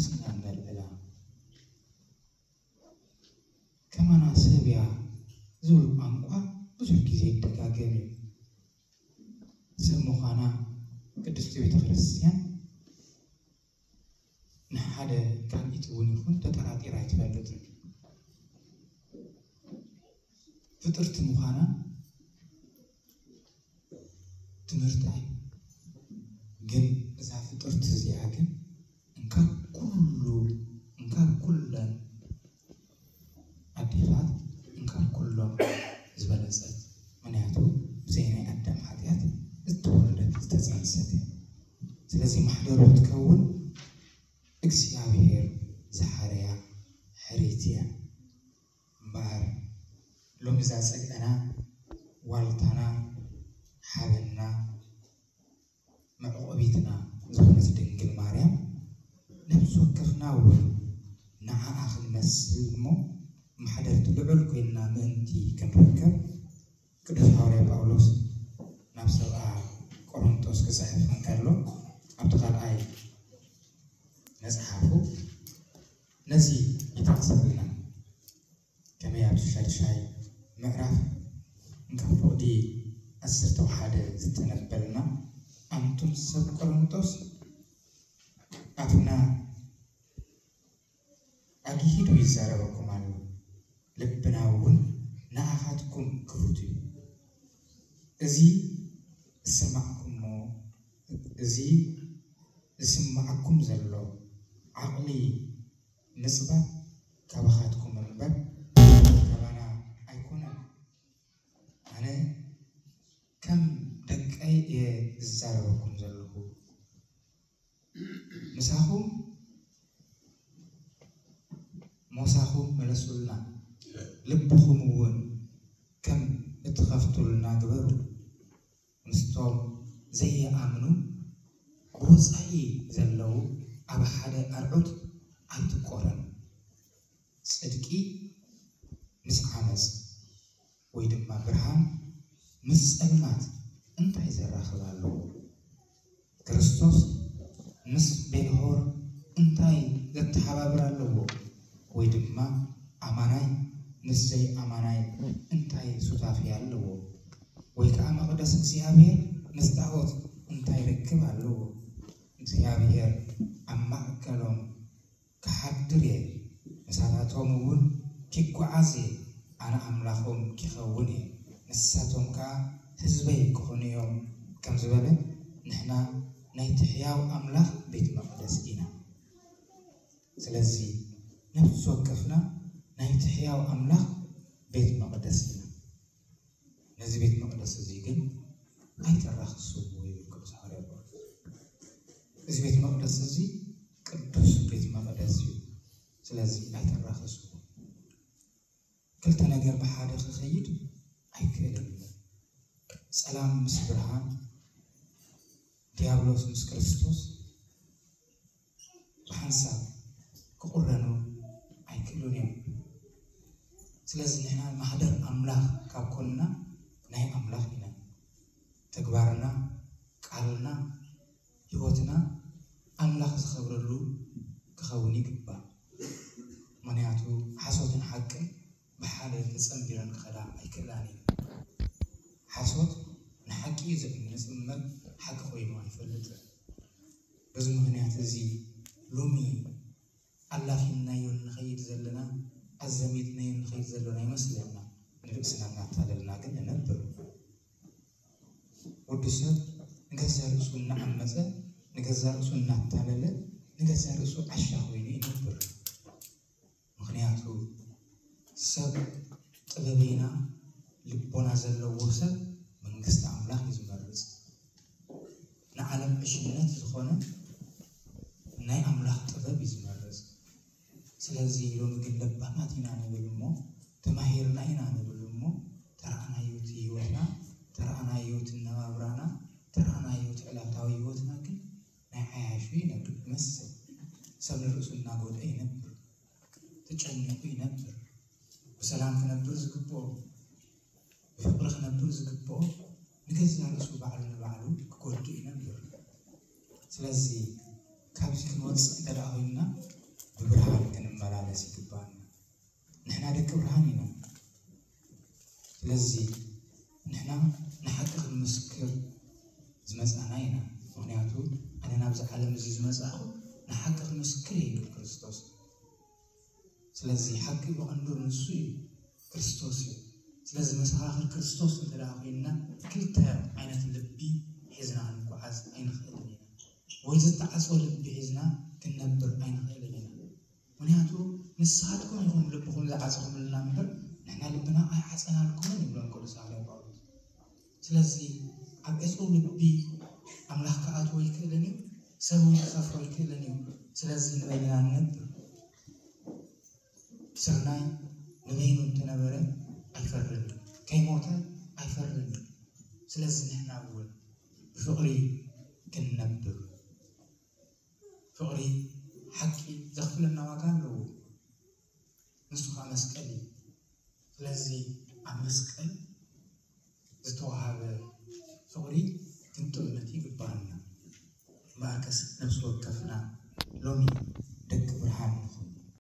ስና ነልዕላ። ከማና ሰብ እያ ዝብል ቋንቋ ብዙሕ ግዜ ይደጋገም እዩ። ሰብ ምዃና ቅድስቲ ቤተ ክርስቲያን ንሓደ ካልኢት እውን ይኹን ተጠራጢራ ኣይትፈልጥን። ፍጥርቲ ምዃና ትምህርቲ እዩ። ግን እዛ ፍጥርቲ እዚኣ ግን እንካብ ኩሉ እንካብ ኩለን ኣዴታት እንካብ ኩሎም ዝበለጸት፣ ምክንያቱ ብዘይ ናይ ኣዳም ሓጢኣት ዝተወለደት ዝተጸንሰት እያ። ስለዚ ማሕደሩ ክትከውን እግዚኣብሔር ዝሓረያ ሕርይቲ እያ። እምበኣር ሎሚ እዛ ጸግዕና ዋልታና ሓበንና መዕቆቢትና ዝኾነት ድንግል ማርያም ነፍሲ ወከፍና እውን ንዓኣ ክንመስል እሞ ማሕደርቲ ልዑል ኮይንና ምእንቲ ክንርከብ ቅዱስ ሓዋርያ ጳውሎስ ናብ ሰብኣ ቆሮንጦስ ክጽሕፍ እንከሎ ኣብቲ ካልኣይ መጽሓፉ ነዚ ይጠቕሰልና። ከመይ ኣብቲ ሻድሻይ ምዕራፍ እንካብ ፍቕዲ ዓሰርተ ሓደ ዝተነበልና ኣንቱም ሰብ ቆሮንጦስ ኣፍና ኣግሂዱ ይዛረበኩም ኣሎ፣ ልብና እውን ንኣኻትኩም ክፉት እዩ። እዚ ዝስማዕኩሞ እዚ ዝስማዓኩም ዘሎ ዓቕሊ ምጽባብ ካባኻትኩም እምበር ካባና ኣይኮነን። ኣነ ከም ደቀይ እየ ዝዛረበኩም ዘለኹ። ምሳኹም ሞሳኹም መለሱልና፣ ልብኹም እውን ከም እትኸፍቱልና ግበሩ። ምስቶም ዘይኣምኑ ብወጻኢ ዘለዉ ኣብ ሓደ ኣርዑት ኣይትቆረን። ጽድቂ ምስ ዓመጽ ወይ ድማ ብርሃን ምስ ጸልማት እንታይ ዘራኽብ ኣለዎ? ክርስቶስ ምስ ቤልሆር እንታይ ዘተሓባብር ኣለዎ? ወይ ድማ ኣማናይ ምስ ዘይኣማናይ እንታይ ሱታፌ ኣለዎ? ወይ ከዓ መቕደስ እግዚኣብሔር ምስ ጣዖት እንታይ ርክብ ኣለዎ? እግዚኣብሔር ኣብ ማእከሎም ክሓድር እየ፣ ምሳታቶም እውን ኪጓዓዝ እየ፣ ኣነ ኣምላኾም ኪኸውን እየ፣ ንሳቶም ከኣ ህዝበይ ክኾኑ እዮም ከም ዝበለ፣ ንሕና ናይቲ ሕያው ኣምላኽ ቤት መቕደስ ኢና። ስለዚ ነፍሲ ወከፍና ናይቲ ሕያው ኣምላኽ ቤት መቕደስ ኢና። ነዚ ቤት መቕደስ እዚ ግን ኣይተራኽስዎ ይብል ቅዱስ ሓዋርያ ጳውሎስ። እዚ ቤት መቕደስ እዚ ቅዱስ ቤት መቕደስ እዩ። ስለዚ ኣይተራኽስዎ። ክልተ ነገር ብሓደ ክኸይድ ኣይክእልን እዩ። ጸላም ምስ ብርሃን፣ ዲያብሎስ ምስ ክርስቶስ ብሓንሳብ ክቑረኑ ኣይክእሉን እዮም። ስለዚ ንሕና ማሕደር ኣምላኽ ካብ ኮንና ናይ ኣምላኽ ኢና። ተግባርና፣ ቃልና፣ ህይወትና ኣምላኽ ዝኸብረሉ ክኸውን ይግባእ። ምኽንያቱ ሓሶትን ሓቅን ብሓደ ተጸንቢረን ክኸዳ ኣይክእላን እየን። ሓሶት ንሓቂ እዩ ዝዕንጽ እምበር ሓቂ ኮይኑ ኣይፈልጥን። በዚ ምኽንያት እዚ ሎሚ ኣላፊናዮ እንኸይድ ዘለና፣ ኣዘሚትናዮ እንኸይድ ዘለና ይመስለና። ንርእስና እናታለልና ግን ንነብር። ወዲ ሰብ ንገዛ ርእሱ እናዓመጸ፣ ንገዛ ርእሱ እናታለለ፣ ንገዛ ርእሱ ዓሻ ኮይኑ ይነብር። ምኽንያቱ ሰብ ጥበበይና ልቦና ዘለዎ ሰብ መንግስቲ ኣምላኽ እዩ ዝመርጽ። ንዓለም ዕሽነት ዝኾነ ናይ ኣምላኽ ጥበብ እዩ ዝመርጽ። ስለዚ ሎሚ ግን ለባማት ኢና ንብል እሞ፣ ተማሂርና ኢና ንብል እሞ፣ ተረኣናዮ እቲ ህይወትና፣ ተረኣናዮ እቲ ነባብራና፣ ተረኣናዮ እቲ ዕለታዊ ህይወትና ግን ናይ ዓያሹ ይነብር ይመስል። ሰብ ንርእሱ እናጎድአ ይነብር፣ ተጨኒቑ ይነብር። ብሰላም ክነብር ዝግብኦ፣ ብፍቕሪ ክነብር ዝግብኦ ንገዛእ ርእሱ ባዕሉ ንባዕሉ ክጎድእ ይነብር። ስለዚ ካብዚ ክንወፅእ እንተ ደኣ ኮይንና ብብርሃን ክንመላለስ ይግባና። ንሕና ደቂ ብርሃን ኢና። ስለዚ ንሕና ንሓቂ ክንምስክር ዝመጻና ኢና። ምክንያቱ ኣነ ናብዚ ዓለም እዚ ዝመጻኹ ንሓቂ ክምስክር እዩ ክርስቶስ። ስለዚ ሓቂ ብቐንዱ ንሱ እዩ፣ ክርስቶስ እዩ። ስለዚ መሰኻኽር ክርስቶስ እንተ ደኣ ኮይንና ክልተ ዓይነት ልቢ ሒዝና ክንጓዓዝ ኣይንኽእልን ኢና። ወይ ዝተዓጽወ ልቢ ሒዝና ክንነብር ኣይንኽእልን ኢና። ምክንያቱ ንስኻትኩም ኢኹም ልብኹም ዝዓጽኹምልና እምበር ንሕና ልብና ኣይዓጸናልኩምን ይብሎም ቅዱስ ሃዋርያ ጳውሎስ። ስለዚ ኣብ ዕጹው ልቢ ኣምላኽ ክኣትዎ ኣይክእልን እዩ፣ ሰብ እውን ክሰፍሮ ኣይክእልን እዩ። ስለዚ ንበይንና ንነብር። ስርናይ ንበይኑ እንተነበረ ኣይፈርን፣ ከይሞተ ኣይፈርን። ስለዚ ንሕና እውን ብፍቕሪ ክንነብር፣ ፍቕሪ ሓቂ ዘኽፍለና ዋጋ ኣለዎ። ንሱ ከዓ መስቀል እዩ። ስለዚ ኣብ መስቀል ዝተዋሃበ ፍቕሪ ክንጥምት ይግባኣና። እምበኣርከስ ነፍሲ ወከፍና ሎሚ